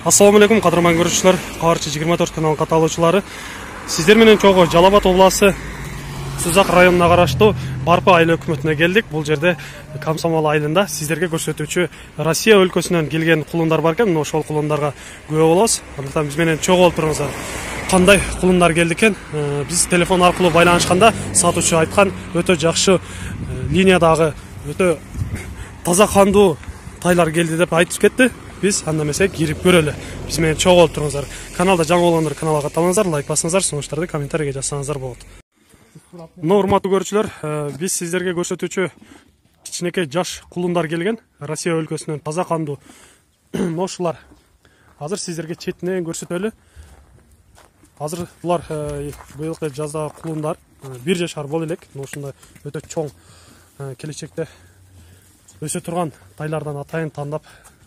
Assalamu alaikum, qadırman görüşçüler, Kavarçı 24 kanalın kataloğçuları. Sizler менен чогуу Жалал Абад обласы Сузак районуна караштуу Барпы айыл өкмөтүнө келдик. Бул жерде Комсомол айылында сиздерге көрсөтүүчү Россия өлкөсүнөн келген кулундар бар экен. Ошол кулундарга күбө болобуз. Андыктан биз менен чогуу болуп туруңуздар. Кандай кулундар келди экен? Биз телефон аркылуу байланышканда сатуучу айткан өтө жакшы линиядагы өтө таза кандуу тайлар келди деп айтып кетти. Biz анда эмесе кирип көрөлү. Биз менен чогуу болуп туруңуздар. Каналда жаңы болгондор каналга катталыңыздар, лайк басыңыздар, сунуштарды комментарийге жазсаңыздар болот. Урматтуу көрүүчүлөр, биз сиздерге көрсөтүүчү кичинекей жаш кулундар келген. Россия өлкөсүнөн таза кандуу ушулар. Азыр сиздерге четинен көрсөтөлү. Азыр булар быйылкы жазда кулундар 1 жашар боло элек. Ушундай өтө чоң келечекте өсө турган тайлардан атайын тандап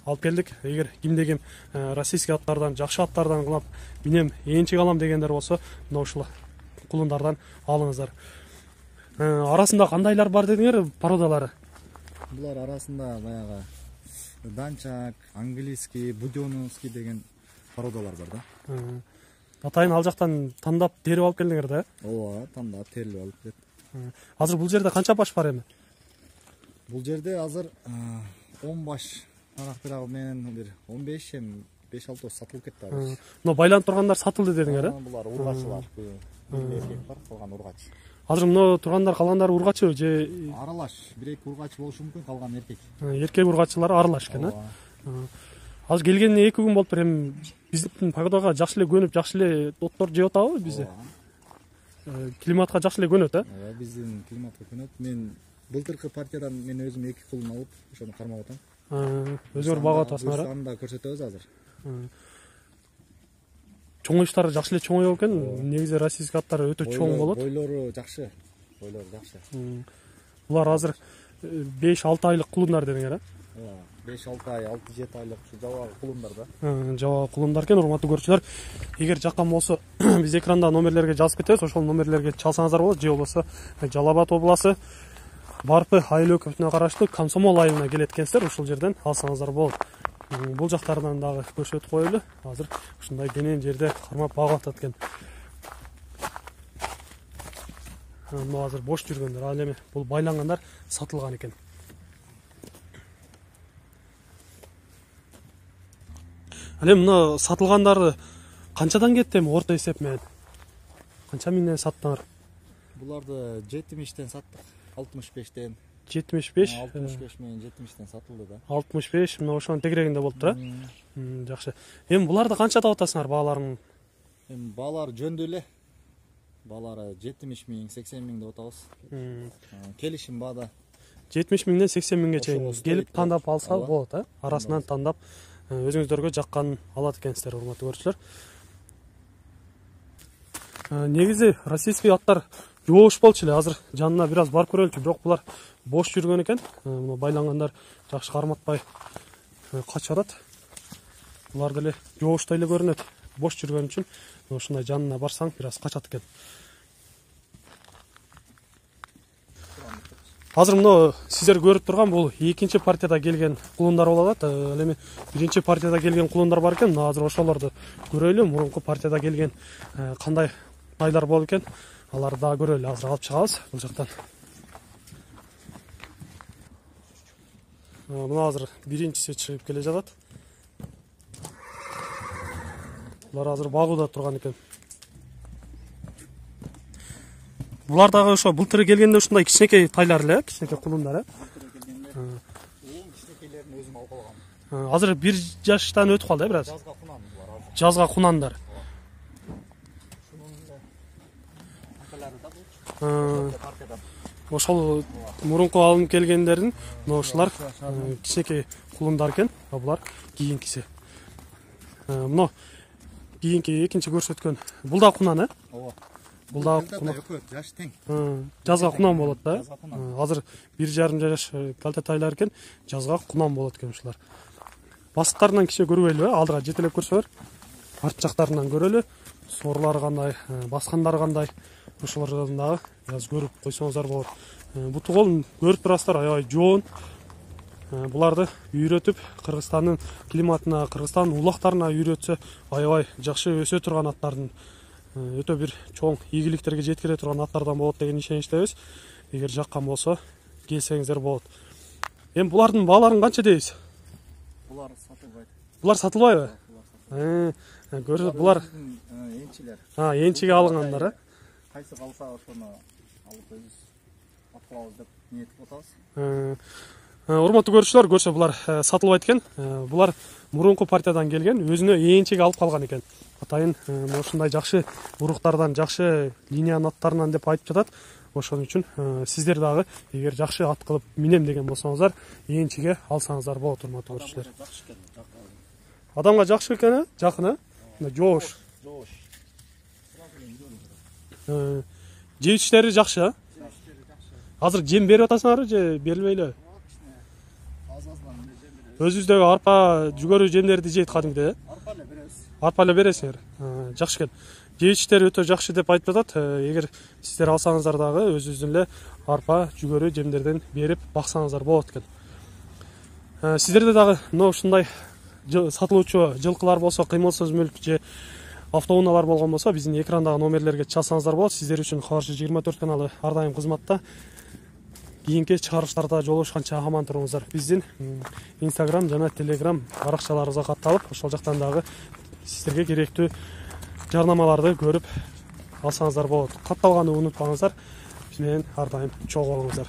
алып келдик. Эгер кимде-ким российский аттардан, жакшы аттардан кылап минем ээрчик алам дегендер болсо, мына ушул кулундардан алыңыздар. Арасында кандайлар бар дедиңер, породалары? Булар арасында баягы данчак, английский, будёновский деген породалар бар да. Атайын ал жактан тандап терип алып келдиңер да? Ооба, тандап терилип алып келет. Азыр бул жерде канча баш бар эми? Бул жерде азыр 10 баш Анактырагы менен бир 15 эми 5-6 сатылып кетти азыр. Но байланып тургандар сатылды дедиңер, Булар ургачылар. Эркек бар, калган ургач. Азыр мына тургандар калгандары ургачы же аралаш, бир-эки ургач болушу мүмкүн, калган эркек. Эркек ургачылар аралаш экен, Азыр келгенине 2 күн болуптур. Эми биздин погодага жакшы эле көнүп, жакшы эле оттор жеп атабы бизде? Климатка жакшы эле көнөт, Ооба, биздин климатка көнөт. Мен былтыркы партиядан мен өзүм 2 кулун алып, ошону кармап атам. Өзүңөр багып атасыңар. Анда көрсөтөбүз азыр. Чоңоюштары жакшы эле чоңоюп экен. Негизи российский аттар өтө чоң болот. Бойлору жакшы. Булар азыр 5-6 айлык кулундар дедиңер, Ооба, 5-6 ай, 6-7 айлык ушу жабагы кулундар да. Жабагы кулундар экен. Урматтуу көрүүчүлөр, эгер жаккан болсо биз экранда номерлерге жазып кетебиз. Ошол номерлерге чалсаңыздар болот. Же болбосо Жалал Абад обласы Барпы айыл өкмөтүнө караштуу Комсомол айылына келет экенсиздер. Ушул жерден алсаңыздар болот. Бул жактарынан дагы көрсөтүп коелу. Азыр ушундай денен жерде кармап багып атат экен. Мына азыр бош жүргөндөр, ал эми бул байлангандар сатылган экен. Ал эми мына сатылгандарды канчадан кетти эми орто эсеп менен? Канча миңден саттыңар? Буларды 70тен саттык. 65тен. 75? 65 менен 70тен сатылды да. 65, мына ошонун тегерегинде болуптур, Жакшы. Эми буларды канча таап атасыңар бааларын? Эми баалар жөндүү эле. Баалары 70 миң, 80 миң деп атабыз. Келишим баада. 70 миңден 80 миңге чейин келип тандап алса болот, Арасынан тандап өзүңүздөргө жакканын алат экенсиздер, урматтуу көрүүчүлөр. Негизи российский аттар жоош болчу эле. Азыр жанына бир аз барып көрөлүчү, бирок булар бош жүргөн экен. Мына байлангандар жакшы карматпай качып атат. Булар деле жооштой эле көрүнөт. Бош жүргөн үчүн ушундай жанына барсаң бир аз качат экен. Азыр мына сиздер көрүп турган бул экинчи партияда келген кулундар болот. Ал эми биринчи партияда келген кулундар бар экен. Мына азыр ошолорду көрөлү. Мурунку партияда келген кандай тайлар болуп экен, аларды да көрөлү. Азыр алып чыгабыз бул жактан. Мына азыр биринчиси чыгып келе жатат. Булар азыр багууда турган экен. Булар дагы ошо былтыр келгенде ушундай кичинекей тайлар эле, кичинекей кулундар, Кичинекейлерин өзүм алып алгам. Азыр 1 жаштан өтүп калды, бир аз. Жазга кунан булар азыр. Жазга кунандар. Ошол мурунку алынып келгендердин мына ушулар кичинекей кулундар экен. Булар кийинкиси. Мына кийинки экинчи көрсөткөн бул да кунан, Ооба. Бул да кунан. Жаш тең. Жазга кунан болот да. Азыр 1,5 жаш калте тайлар экен, жазга кунан болот экен ушулар. Басыктарынан кичи көрбөйлүбү? Алдыга жетелеп көрсөбөр. Арт жактарынан көрөлү. Сорлары кандай, баскандары кандай, ошолордон дагы бир аз көрүп койсоңуздар болот. Буту колун көрүп турасыздар, аябай жоон. буларды үйрөтүп Кыргызстандын климатына, Кыргызстандын улактарына үйрөтсө аябай жакшы өсө турган аттардын өтө бир чоң ийгиликтерге жеткире турган аттардан болот деген ишеничтебиз. Эгер жаккан болсо келсеңиздер болот. Эми булардын бааларын канча дейбиз? Булар сатылбайт. Булар сатылбайбы? Көрсөт, булар энчилер. Энчиге алынгандар, Кайсы калса ошону алып өзүбүз аткылабыз деп ниетип атабыз. Урматтуу көрүүчүлөр, көрсө булар сатылбайт экен. Булар мурунку партиядан келген, өзүнө энчиге алып калган экен. Атайын ушундай жакшы уруктардан, жакшы линиянын аттарынан деп айтып жатат. Ошон үчүн сиздер дагы эгер жакшы ат кылып минем деген болсоңуздар, энчиге алсаңыздар болот, урматтуу көрүүчүлөр. Адамга жакшы экен, жакын, жоош. Жеп ичтери жакшы, Азыр жем берип атасыңарбы же берилбейлби? Өзүбүздөгү арпа, жүгөрү жемдерди жейт кадимгидей, Арпа эле беребиз. Арпа эле бересиңер. Жакшы экен. Жеп ичтери өтө жакшы деп айтып атат. Эгер сиздер алсаңыздар дагы өзүбүздүн эле арпа, жүгөрү жемдерден берип баксаңыздар болот экен. Сиздерде дагы мына ушундай сатылуучу жылкылар болсо, кыймылсыз мүлк же автоунаалар болгон болсо, биздин экрандагы номерлерге чалсаңыздар болот. Сиздер үчүн Кабарчы 24 каналы ар дайым кызматта. Кийинки чыгарылыштарда жолугушканча аман туруңуздар. Биздин Instagram жана Telegram баракчаларыбызга катталып, ошол жактан дагы сиздерге керектүү жарнамаларды көрүп алсаңыздар болот. Катталганы унутпаңыздар. Биз менен ар дайым чогуу болуңуздар.